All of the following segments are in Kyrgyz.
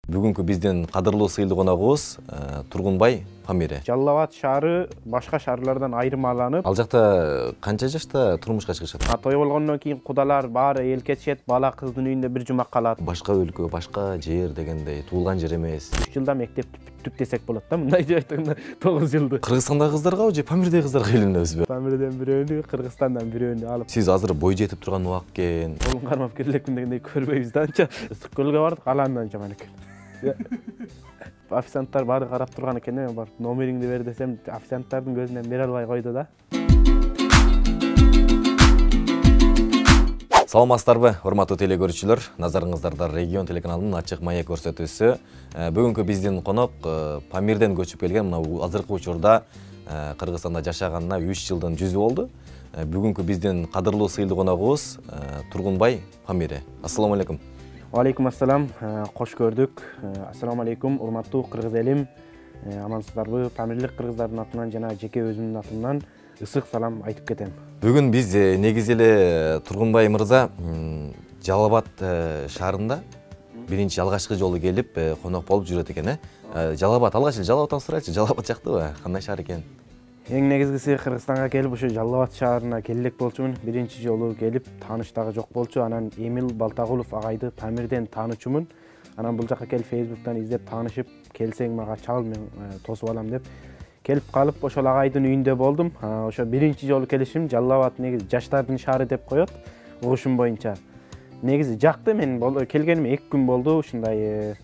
Бүгүнкү биздин кадырлуу сыйлуу коногубуз Тургунбай Памире. Жалал Абад шаары башка шаарлардан айырмаланып, Ал жакта канча жашта турмушка чыгышат? той болгондон кийин кудалар баары эл кетишет, бала кыздын үйүндө бир жума калат. Башка өлкө, башка жер дегендей туулган жер эмес. 3 жылда мектепти бүттүк десек болот да, мындай деп айтканда 9 жылды. Кыргызстандагы кыздарга же Памирдеги кыздарга үйлөнөбүзбү? Памирден бирөөнү, Кыргызстандан бирөөнү алып. Сиз азыр бой жетип турган убак экен. Колун кармап кирелекмин дегендей көрбөйбүз да анча. Ысык көлгө бардык, алаандан жаман экен. Официанттар баары карап турган экен, мен барып номериңди бер десем, официанттардын көзүнөн бере албай койду да. Саламатсыздарбы, урматтуу телекөрүүчүлөр? Назарыңыздарда Регион телеканалынын ачык маек көрсөтүүсү. Бүгүнкү биздин конок Памирден көчүп келген, мына азыркы учурда Кыргызстанда жашаганына 3 жылдын жүзү болду. Бүгүнкү биздин кадырлуу сыйлуу коногубуз Тургунбай Памире. Ассаламу алейкум. Алейкум ассалам, кош көрдүк. Ассаламу алейкум, урматтуу кыргыз элим. Амансыздарбы? Памирлик кыргыздардын атынан жана жеке өзүмдүн атымдан ысык салам айтып кетем. Бүгүн биз негизи эле Тургунбай мырза Жалал Абад шаарында биринчи алгачкы жолу келип конок болуп жүрөт экен. Жалал Абад, алгач эле Жалал Абадтан сурайлычы, Жалал Абад жактыбы? Кандай шаар экен? Эң негизгиси Кыргызстанга келип ушу Жалал Абад шаарына келек болчумун. Биринчи жолу келип тааныш дагы жок болчу. Анан Эмил Балтагулов агайды Памирден таанычумун. Анан бул жака келип Facebook'тан издеп таанышып, келсең мага чал, мен тосуп алам деп келип калып ошол агайдын үйүндө болдум. Ошо биринчи жолу келишим. Жалал Абад негизи жаштардын шаары деп коет угушум боюнча. Негизи жакты, мен келгениме 2 күн болду. Ушундай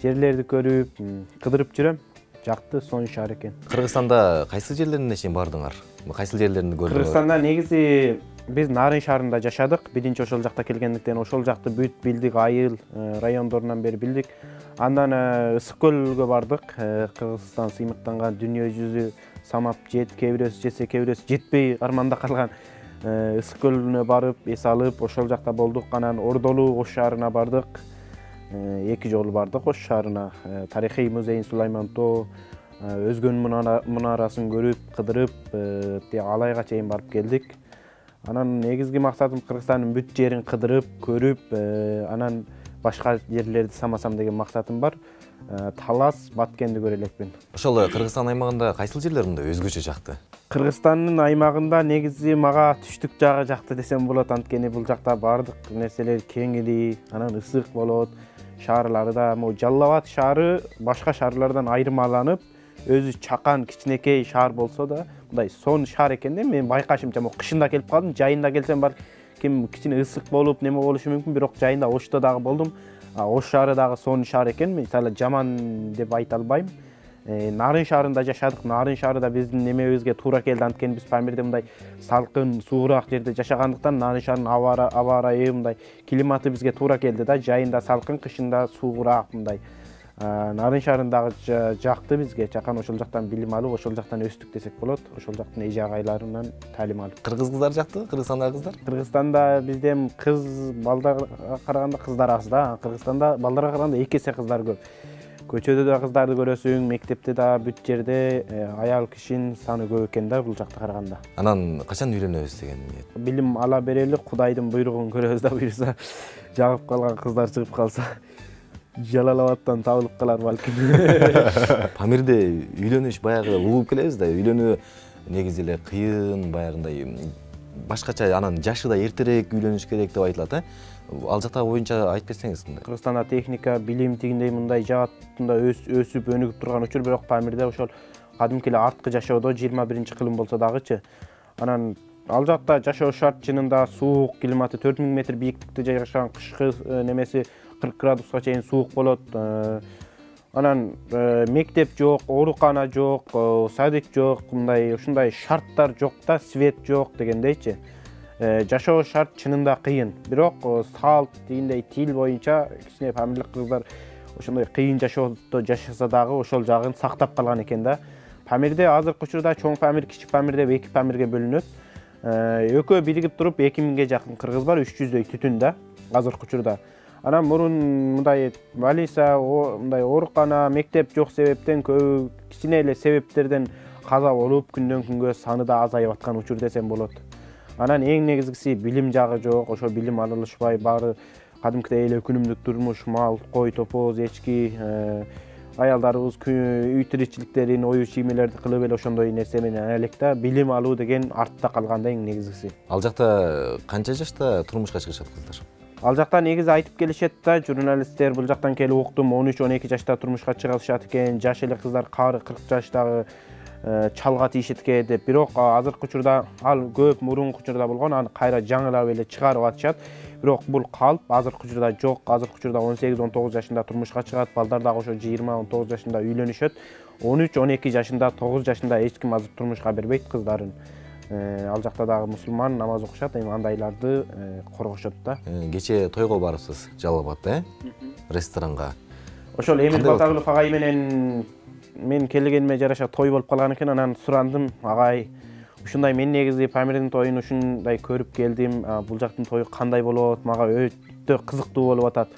жерлерди көрүп, кыдырып жүрөм. Жакты, сонун шаар экен. Кыргызстанда кайсы жерлерине чейин бардыңар? Кайсы жерлеринди көрдүңөр? Кыргызстанда негизи биз Нарын шаарында жашадык. Биринчи ошол жакта келгендиктен ошол жакты бүт билдик, айыл райондорунан бери билдик. Андан Ысык көлгө бардык. Кыргызстан сыймыктанган дүйнө жүзү самап жет, кээ бирөөсү жесе, кээ бирөөсү жетпей арманда калган Ысык көлүнө барып, эс алып, ошол жакта болдук. Анан Ордолуу Ош шаарына бардык. 2 жолу бардык Ош шаарына. Тарыхый музейин Сулайман Тоо, Өзгөнүн мунарасын көрүп, кыдырып, Алайга чейин барып келдик. Анан негизги максатым Кыргызстандын бүт жерин кыдырып, көрүп, анан башка жерлерди самасам деген максатым бар. Талас, Баткенди көрө элекмин. Ошол Кыргызстан аймагында кайсыл жерлеринде өзгөчө жакты? Кыргызстандын аймагында негизи мага түштүк жагы жакты десем болот. Анткени бул жакта бардык нерселер кеңири, анан ысык болот. Шаарлары да, Жалал Абад шаары башка шаарлардан айырмаланып, өзү чакан, кичинекей шаар болсо да, мындай сонун шаар экен да. Мен байкашымча, кышында келип калдым, жайында келсем бар, ким кичине ысык болуп, неме болушу мүмкүн, бирок жайында Ошто дагы болдум. Ош шаары дагы сонун шаар экен. Мен мисалы жаман деп айта албайм. Нарын шаарында жашадык. Нарын шаарында биздин немебизге туура келди. Анткени биз Памирде мындай салкын, суураак жерде жашагандыктан Нарын шаарынын аба ырайы, мындай климаты бизге туура келди да. Жайында салкын, кышында суураак мындай. Нарын шаарындагы жакты бизге. Чакан ошол жактан билим алып, ошол жактан өстүк десек болот. Ошол жактын эже агайларынан талим алып. Кыргыз кыздар жактыбы? Кыргызстандагы кыздар? Кыргызстанда бизден кыз балдарга караганда кыздар аз да. Кыргызстанда балдарга караганда 2 эсе кыздар көп. Көчөдө да кыздарды көрөсүң, мектепте да, бүт жерде аял кишинин саны көп экен да бул жакта караганда. Анан качан үйлөнөбүз деген ниет? Билим ала берели, Кудайдын буйругун көрөбүз да, буюрса. Жагып калган кыздар чыгып калса, Жалал Абадтан табылып калар балким. Памирде үйлөнүш баягы угуп келебиз да, үйлөнүү негизи эле кыйын, баягындай башкача, анан жашы да эртерээк үйлөнүш керек деп айтылат, Ал жакта боюнча айтып кетсеңиз. Кыргызстанда техника, билим тигиндей мындай жаатында өсүп, өнүгүп турган учур, бирок Памирде ошол кадимки эле арткы жашоодо 21-кылым болсо дагычы. Анан ал жакта жашоо шарт чынында суук, климаты 4000 метр бийиктикте жайгашкан, кышкы немеси 40 градуска чейин суук болот. Анан мектеп жок, оорукана жок, садик жок, мындай ушундай шарттар жок да, свет жок дегендейчи. Жашоо шарт чынында кыйын. Бирок салт дегендей тил боюнча кичине памирлик кыздар ошондой кыйын жашоодо жашаса дагы ошол жагын сактап калган экен да. Памирде азыркы учурда чоң Памир, кичи Памир деп 2 Памирге бөлүнөт. Экөө биригип туруп 2000ге жакын кыргыз бар, 300дөй түтүн да азыркы учурда. Анан мурун мындай балиса, мындай оорукана, мектеп жок себептен көбү кичине эле себептерден каза болуп, күндөн күнгө саны да азайып аткан учур десем болот. Анан эң негизгиси билим жагы жок, ошо билим алышпай баары кадимкидей эле күнүмдүк турмуш, мал, кой, топоз, эчки, аялдарыбыз үй тиричиликтерин, ою чиймелерди кылып эле ошондой нерсе менен элек да билим алуу деген артта калган да эң негизгиси. Ал жакта канча жашта турмушка чыгышат кыздар? Ал жакта негизи айтып келишет да, журналисттер бул жактан келип уктум, 13-12 жашта турмушка чыгышат экен, жаш эле кыздар 40 жаштагы чалга тийишет экен деп. Бирок азыркы учурда ал көп мурунку учурда болгон, аны кайра жаңылап эле чыгарып атышат. Бирок бул калп азыркы учурда жок. Азыркы учурда 18-19 жашында турмушка чыгат, балдар дагы ошо 20-19 жашында үйлөнүшөт. 13-12 жашында, 9 жашында эч ким азыр турмушка бербейт кыздарын. Ал жакта дагы мусулман, намаз окушат, эми андайларды коргошот да. Кече тойго барыпсыз, Жалал-Абадта, ресторанга. Ошол Эмил Батагулов агай менен мен келгениме жараша той болуп калган экен, анан сурандым, агай, ушундай мен негизи Памирдин тоюн ушундай көрүп келдим, бул жактын тою кандай болот, мага өтө кызыктуу болуп атат.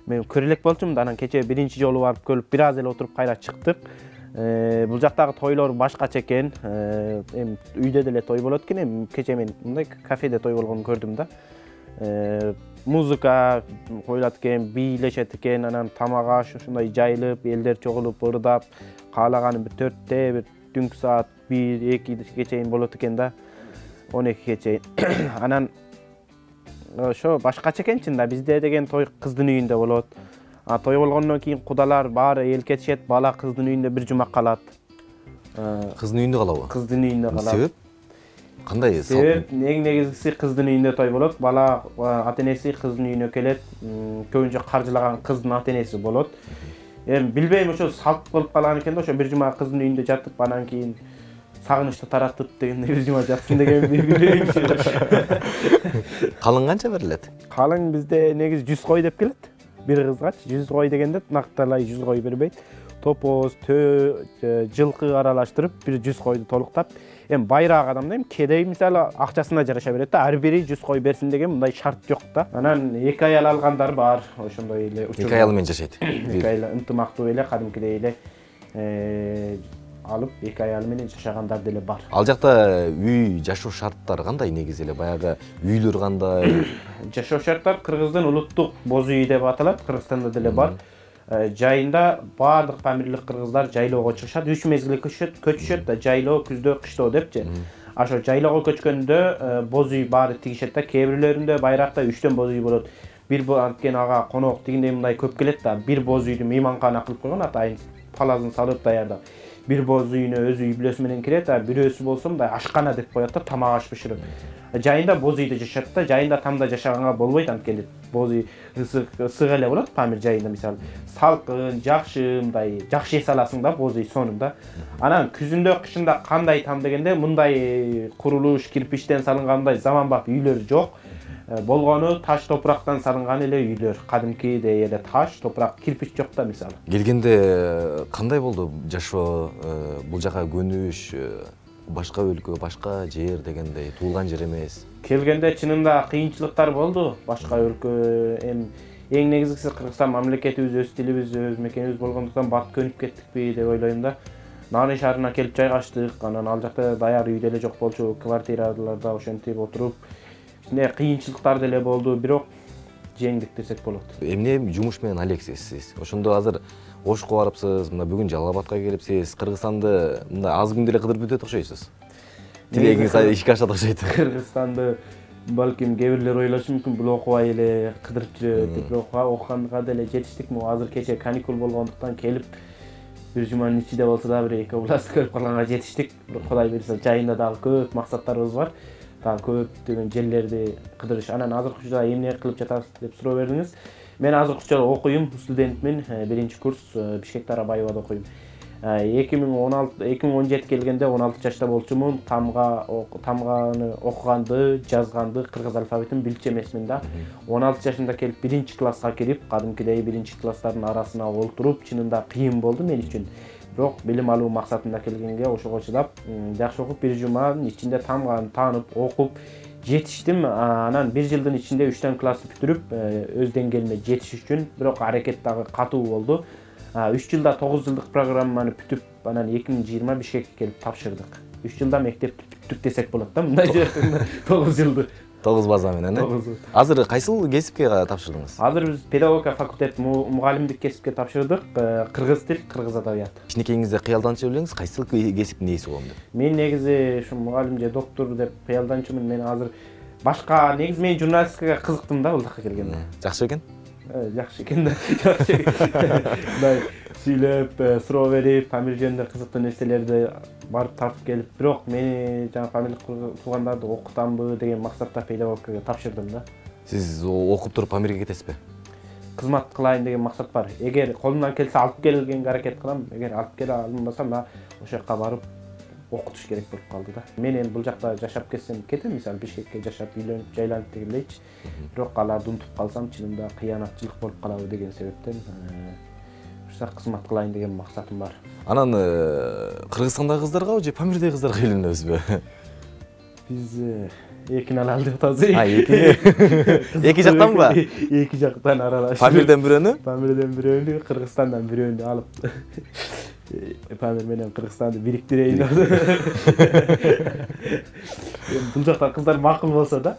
Мен көрө элек болчумун, анан кече биринчи жолу барып көрүп, бир аз эле отуруп кайра чыктык. Бул жактагы тойлор башкача экен. Эми үйдө деле той болот экен, эми кече мен мындай кафеде той болгонун көрдүм да. Музыка коюлат экен, бийлешет экен, анан тамак аш ушундай жайылып, элдер чогулуп, ырдап, каалаганы бир 4-те, бир түнкү саат 1-2 чейин болот экен да. 12 чейин. Анан ошо башкача экен чын да. Бизде деген той кыздын үйүндө болот. Той болгондон кийин кудалар баары элкетишет, бала кыздын үйүндө бир жума калат. Кыздын үйүндө калабы? Кыздын үйүндө калат. Себеп? Кандай? Себеп эң негизгиси кыздын үйүндө той болот. Бала ата-энеси кыздын үйүнө келет. Көбүнчө каржылаган кыздын ата-энеси болот. Эми билбейм, ошо салт болуп калган экен да, ошо бир жума кыздын үйүндө жатып, анан кийин сагынычты таратып дегенде бир жума жатсын деген билбейм. Калың канча берилет? Калың бизде негизи 100 кой деп келет. Бир кызгач 100 кой дегенде накталай 100 кой бербейт. Топоз, жылкы аралаштырып бир 100 койду толуктап. Эми байраак адамда эми кедей мисалы акчасына жараша берет да, ар бири 100 кой берсин деген мындай шарт жок да. Анан 2 аял алгандар бар, ошондой эле. 2 аял менен жашайт. 2 аял ынтымактуу эле, кадимкидей эле алып 2 аял менен жашагандар деле бар. Ал жакта үй жашоо шарттары кандай негизи эле? Баягы үйлөр кандай? Жашоо шарттар кыргыздын улуттук боз үйү деп аталат, Кыргызстанда деле бар. Жайында баардык памирлик кыргыздар жайлоого чыгышат, 3 мезгил көчүшөт да, жайлоо, күздө, кыштоо депчи. Ошо жайлоого көчкөндө боз үй баары тигишет да, кээ бирлеринде байракта 3төн боз үй болот. Бир анткени ага конок тигиндей мындай көп келет да, бир боз үйдү мейманкана кылып койгон, атайын палазын салып даярдап. Бир боз үйүнө өз үй бүлөсү менен кирет, бирөөсү болсо мындай ашкана деп коет да, тамак аш бышырып. Жайында боз үйдө жашашат да, жайында тамда жашаганга болбойт, анткени боз үй ысык эле болот Памир жайында, мисалы. Салкын, жакшы, мындай жакшы эс аласың да боз үй сонунда. Анан күзүндө, кышында кандай там дегенде мындай курулуш, кирпичтен салынгандай заманбап үйлөр жок. Болгону таш топурактан салынган эле үйлөр, кадимкидей эле таш, топурак, кирпич жок да мисалы. Келгенде кандай болду жашоо, бул жака көнүш, башка өлкө, башка жер дегендей, туулган жер эмес? Келгенде чынында кыйынчылыктар болду, башка өлкө. Эң негизгиси Кыргызстан мамлекетибиз, өз тилибиз, өз мекенибиз болгондуктан бат көнүп кеттикпи деп ойлойм да. Нарын шаарына келип жайгаштык, анан ал жакта даяр үй деле жок болчу, квартираларда ошентип отуруп кыйынчылыктар деле болду, бирок жеңдик десек болот. Эмне жумуш менен алексиз сиз? Ошондо азыр Ошко барыпсыз, мына бүгүн Жалал-Абадка келипсиз. Кыргызстанды мындай аз күндө эле кыдырып бүтөт окшойсуз. Тилегиңиз ишке ашат окшойт. Кыргызстанды балким кээ бирлер ойлошу мүмкүн, бул окубай эле кыдырып жүрөт деп, окуганга деле жетиштик. Азыр кече каникул болгондуктан келип бир жуманын ичинде болсо да бир 2 област көрүп калганга жетиштик. Кудай буйрса жайында дагы көп максаттарыбыз бар. Дагы көптөгөн жерлерди кыдырыш. Анан азыркы учурда эмне кылып жатасыз деп суроо бердиңиз. Мен азыркы учурда окуйм, студентмин, 1-курс Бишкекте Арабаевада окуйм. 2017 келгенде 16 жашта болчумун. Тамганы окуганды, жазганды, кыргыз алфавитин билчү эмесмин да. 16 жашында келип 1-класска кирип, кадимкидей 1-класстардын арасына олтуруп, чынында кыйын болду мен үчүн. Бирок билим алуу максатында келгенге ошого чыдап, жакшы окуп, бир жуманын ичинде тамганы таанып, окуп жетиштим. Анан 1 жылдын ичинде 3 классты бүтүрүп, өз деңгээлиме жетиш үчүн бирок аракет дагы катуу болду. 3 жылда 9 жылдык программаны бүтүп, анан 2020 Бишкекке келип тапшырдык. 3 жылда мектепти бүттүк десек болот да, мындай жерде 9 жылды. 9 база менен. Азыр кайсыл кесипке тапшырдыңыз? Азыр биз педагогика факультет мугалимдик кесипке тапшырдык. Кыргыз тил, кыргыз адабият. Кичинекейиңизде кыялданчу элеңиз кайсыл кесиптин ээси болом деп? Мен негизи ушу мугалим же доктор деп кыялданчумун. Мен азыр башка негизи мен журналистикага кызыктым да бул жака келгенде. Жакшы экен? Жакшы экен да. Жакшы экен. Мындай сүйлөп, суроо берип, Памир жөнүндө кызыктуу нерселерди барып тартып келип, бирок мени жана фамилия туугандарды окутамбы деген максатта педагогикага тапшырдым да. Сиз окуп туруп Памирге кетесизби? Кызмат кылайын деген максат бар. Эгер колумдан келсе алып келгенге аракет кылам, эгер алып келе алынбасам да ошол жака барып окутуш керек болуп калды да. Мен эми бул жакта жашап кетсем кетем, мисалы Бишкекке жашап, үйлөнүп, жайланып дегендейчи. Бирок аларды унутуп калсам, чынында кыянатчылык болуп калабы деген себептен ушуга кызмат кылайын деген максатым бар. Анан Кыргызстандагы кыздарга же Памирдеги кыздарга үйлөнөбүзбү? Биз экини алалы деп атабыз. Эки жактанбы? Эки жактан аралашып. Памирден бирөөнү? Памирден бирөөнү, Кыргызстандан бирөөнү алып Памир менен Кыргызстанды бириктирейин деп. Бул жактан кыздар макул болсо да.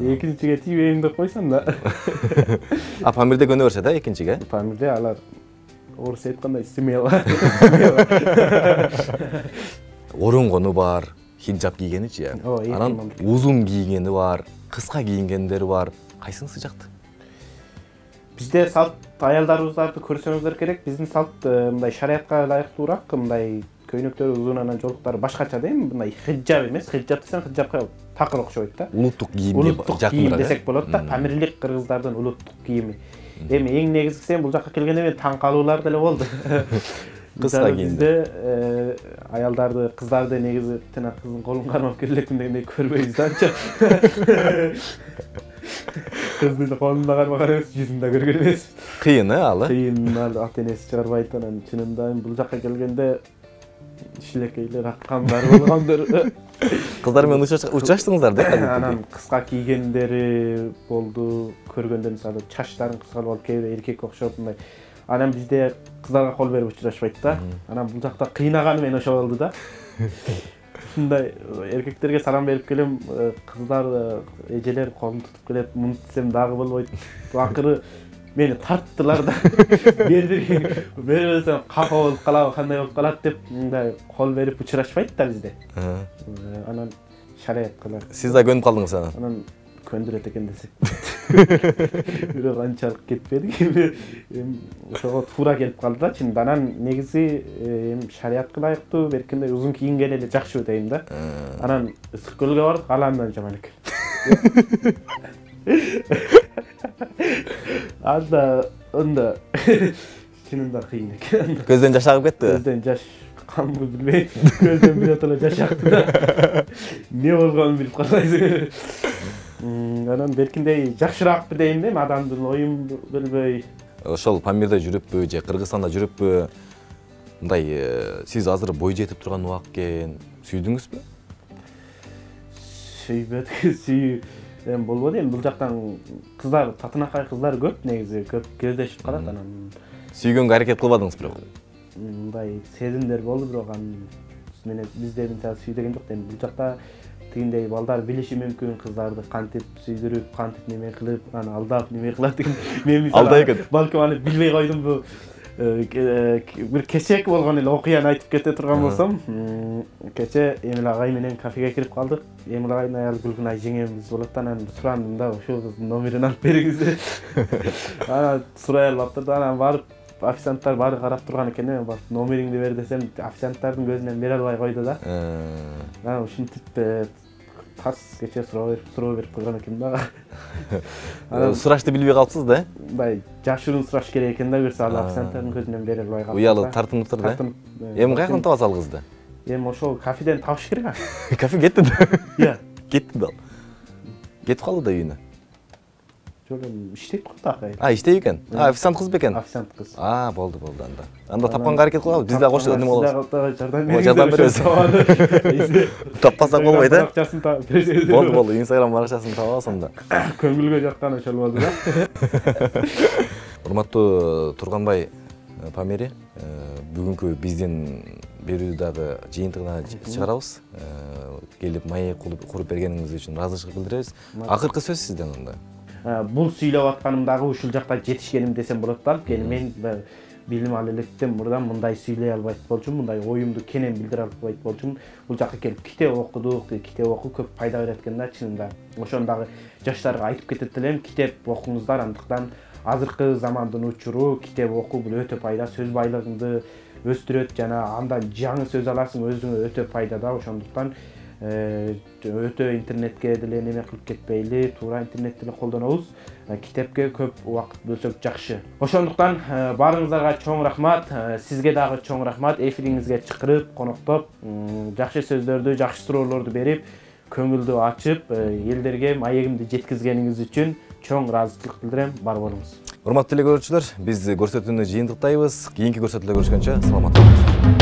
Экинчиге тийбейин деп койсом да. Памирде көнө берсе да экинчиге? Памирде алар орус айткандай смело. Оронгону бар, хиджаб кийгеничи. Анан узун кийгени бар, кыска кийингендери бар. Кайсыңызды жакты? Бизде салт аялдарыбыздарды көрсөңүздөр керек. Биздин салт мындай шариатка ылайыктуураак, мындай көйнөктөрү узун, анан жолуктары башкача дейм. Мындай хиджаб эмес, хиджаб десең хиджабка такыр окшойт да. Улуттук кийимге жакын десек болот да. Памирлик кыргыздардын улуттук кийими. Эми эң негизгиси бул жака келгенде мен таң калуулар деле болду. Кыска кийимде аялдарды, кыздарды негизи тына кыздын колун кармап кире элекмин дегендей көрбөйбүз да анча. Кыздын колунда кармаган эмес, жүзүн да көргөн эмес. Кыйын ал? Кыйын, ата энеси чыгарбайт. Анан чынында бул жака келгенде шилекейлер аккандар болгондор. Кыздар менен учураштыңыздар да? Анан кыска кийгендери болду. Көргөндө мисалы чачтарын кыска болуп, кээ бир эркекке окшоп мындай. Анан бизде кыздарга кол берип учурашпайт да. Анан бул жакта кыйнаганы мен ошо болду да. Ушундай эркектерге салам берип келем, кыздар, эжелер колун тутуп келет, муну десем дагы болбойт. Акыры мени тарттылар да. Бербесем капа болуп калабы, кандай болуп калат деп мындай кол берип учурашпайт да бизде. Анан шариат кылар. Сиз да көнүп калдыңыз анан? Анан көндүрөт экен десек. Бирок анчалык кетпедик. Ошого туура келип калды да. Чын анан негизи шариатка ылайыктуу, беркинде узун кийингени эле жакшы дейм да. Анан ысык көлгө бардык, ал андан жаман экен. Анда чынында кыйын экен. Көздөн жаш агып кетти? Көздөн жаш камбы билбейм. Көздөн биротоло жаш акты да. Не болгонун билип калбайсың. Анан беркиндей жакшыраакпы дейм да, адамдын оюн билбей. Ошол Памирде жүрүппү же Кыргызстанда жүрүппү? Мындай сиз азыр бой жетип турган убак экен. Сүйдүңүзбү? Сүйбөдүк, эми болбоду. Эми бул жактан кыздар, татынакай кыздар көп негизи, көп кездешип калат. Анан сүйгөнгө аракет кылбадыңыз бирок? Мындай сезимдер болду, бирок анан менен бизде мисалы сүйдөгөн жок. Эми бул жакта тигиндей балдар билиши мүмкүн, кыздарды кантип сүйдүрүп, кантип неме кылып, аны алдап неме кылат деген. Мен мисалы балким аны билбей койдум. Бул бир кечек болгон эле окуяны айтып кете турган болсом, кече Эмил агай менен кафеге кирип калдык. Эмил агайдын аялы Гүлгүнай жеңемиз болот да, анан сурандым да, ошол кыздын номерин алып бериңиз деп. Анан сурай алып турду, анан барып официанттар баары карап турган экен. Мен барып номериңди бер десем, официанттардын көзүнөн бере албай койду да. Анан ушинтип тас кече суроо берип койгон экен да. Сурашты билбей калыпсыз да? Мындай жашырын сураш керек экен да, көрсө ал официанттардын көзүнөн бере албай калды. Уялы тартынып да? Эми каяктан табасыз ал кызды? Эми ошол кафеден табыш керек. Кафе кетти да? Иә. Кетти да. Кетип калды да үйүнө. Жок, эми иштейт го такай. Иштейт экен. Официант кыз бекен? Официант кыз. Болду анда. Анда тапканга аракет кылабыз. Биз да кошо неме болобуз. Жардам беребиз. Таппасак болбойт, э? Болду, Instagram баракчасын табабыз анда. Көңүлгө жаккан ошол болду да. Урматтуу Турганбай Памири, бүгүнкү биздин берүүдагы жыйынтыгына чыгарабыз. келип маек куруп бергениңиз үчүн ыраазычылык билдиребиз. Акыркы сөз сизден анда. Бул сүйлөп атканым дагы ушул жакта жетишкеним десем болот да. Анткени мен билим ал электен мурда мындай сүйлөй албайт болчумун, мындай оюмду кенен билдире албайт болчумун. Бул жакка келип китеп окудук, китеп окуу көп пайда берет экен да чынында. Ошону дагы жаштарга айтып кетет элем, китеп окуңуздар, андыктан азыркы замандын учуру китеп окуу бул өтө пайда, сөз байлыгыңды өстүрөт жана андан жаңы сөз аласың, өзүңө өтө пайда да. Ошондуктан өтө интернетке деле неме кылып кетпейли, туура интернетти эле колдонобуз. Китепке көп убакыт бөлсөк жакшы. Ошондуктан баарыңыздарга чоң рахмат, сизге дагы чоң рахмат. Эфириңизге чакырып, коноктоп, жакшы сөздөрдү, жакшы суроолорду берип, көңүлдү ачып, элдерге маегимди жеткизгениңиз үчүн чоң ыраазычылык билдирем. Бар болуңуз. Урматтуу теле көрүүчүлөр, биз көрсөтүүнү жыйынтыктайбыз. Кийинки көрсөтүүлөрдө көрүшкөнчө саламатта болуңуздар.